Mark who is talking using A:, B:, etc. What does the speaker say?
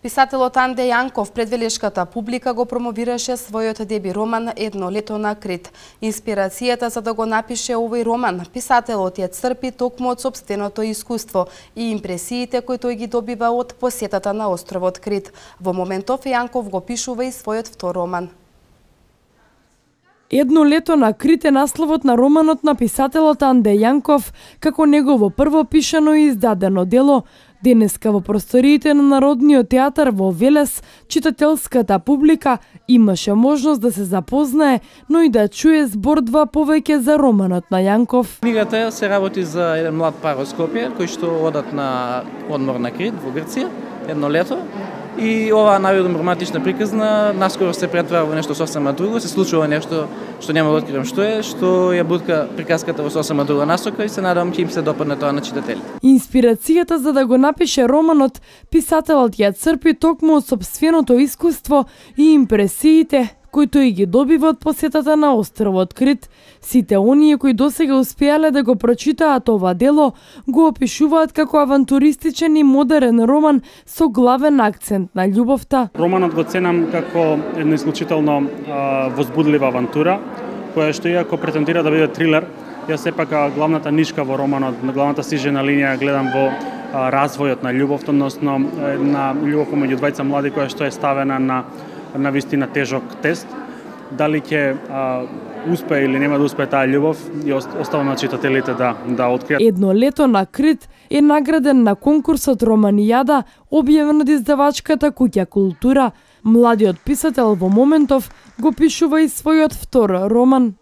A: Писателот Анде Јанков пред велешката публика го промовираше својот деби роман «Едно лето на Крит». Инспирацијата за да го напише овој роман, писателот ја црпи токму од сопственото искуство и импресиите кои тој ги добива од посетата на островот Крит. Во моментов Јанков го пишува и својот втор роман.
B: Едно лето на Крит е насловот на романот на писателот Анде Јанков, како негово прво пишано и издадено дело. Денеска во просториите на Народниот театар во Велес, читателската публика имаше можност да се запознае, но и да чуе збор-два повеќе за романот на Јанков.
C: Книгата се работи за еден млад пар од Скопје, кои што одат на одмор на Крит во Грција, едно лето. И оваа најудно романтична приказна наскоро се претвара во нешто сосема друго, се случува нешто што нема да откривам што е, што ја бутка приказката во сосема друга насока и се надевам ќе им се допадне тоа на читателите.
B: Инспирацијата за да го напише романот, писателот ја црпи токму од сопственото искуство и импресиите кои тој ги добива од посетата на островот Крит. Сите оние кои досега успеале да го прочитаат ова дело, го опишуваат како авантуристичен и модерен роман со главен акцент на љубовта.
D: Романот го ценам како една исклучително возбудлива авантура, која што иако претендира да биде трилер, ја сепак главната нишка во романот, на главната стижена линија гледам во развојот на љубовта, односно на љубов помеѓу двајца млади која што е ставена на вистина тежок тест. Дали ќе успее или нема да успее таа љубов, и оставам на читателите да откријат.
B: Едно лето на Крит е награден на конкурсот Романијада, објавен од издавачката Куќа Култура. Младиот писател во моментов го пишува и својот втор роман.